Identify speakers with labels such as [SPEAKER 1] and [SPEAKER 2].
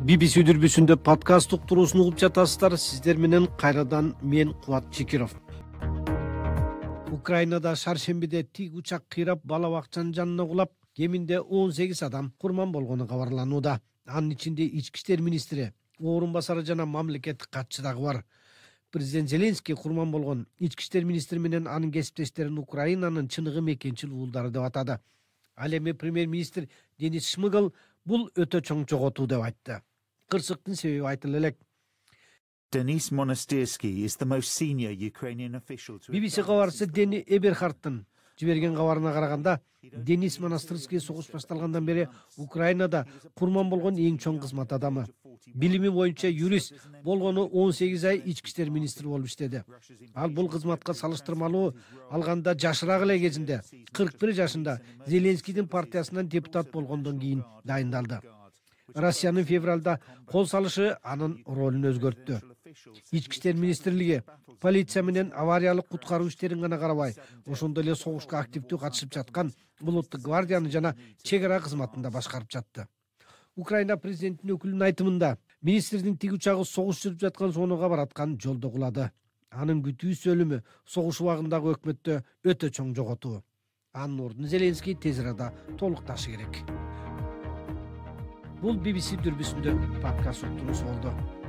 [SPEAKER 1] BBC дүрбүсүндө подкаст уктуруусун угуп жатасыздар. Сиздер менен кайрадан мен Кубат Чекиров. Украинада шаршембиде тик учак кыйрап бала бакчанын жанына кулап, кеминде 18 адам курман болгону кабарланууда. Анын ичинде ички иштер министри, орун басары жана мамлекеттик катчы дагы бар. Президент Зеленский курман болгон ички иштер министри менен анын кесиптештерин Украинанын чыныгы мекенчил уулдары деп атады. Ал эми премьер-министр Денис Шмыгал бул өтө чоң жоготуу деп айтты. Кырсыктын себеби айтылып элек.
[SPEAKER 2] Denis Monastirski is the most senior Ukrainian official to
[SPEAKER 1] BBC кабарчысы Дени Эберхардтын жиберген кабарына караганда, Денис Монастырский согуш башталгандан бери Украинада курман болгон эң чоң кызмат адамы. Билими боюнча юрист, болгону 18 ай ички иштер министри болуп иштеди. Ал бул кызматка салыштырмалуу алганда жашыраак эле кезинде 41 жашында Зеленскийдин партиясынан депутат болгондон кийин дайындалды. Россиянын февралда кол салышы анын ролун өзгөрттү. Ички иштер министрлиги полиция менен авариялык куткаруу иштерин гана карабай, ошондой эле согушка активдүү катышып жаткан улуттук гвардияны жана чек ара кызматын да башкарып жатты. Украина президентинин өкүлүнүн айтымында, министрдин тик учагы согуш жүрүп жаткан зонага бараткан жолдо кулады. Анын күтүүсүз өлүмү согуш убагындагы өкмөттө өтө чоң жоготуу. Анын ордун Зеленский тез арада толукташы керек. Бул BBC дүрбүсүндө подкаст уктуруусу болду.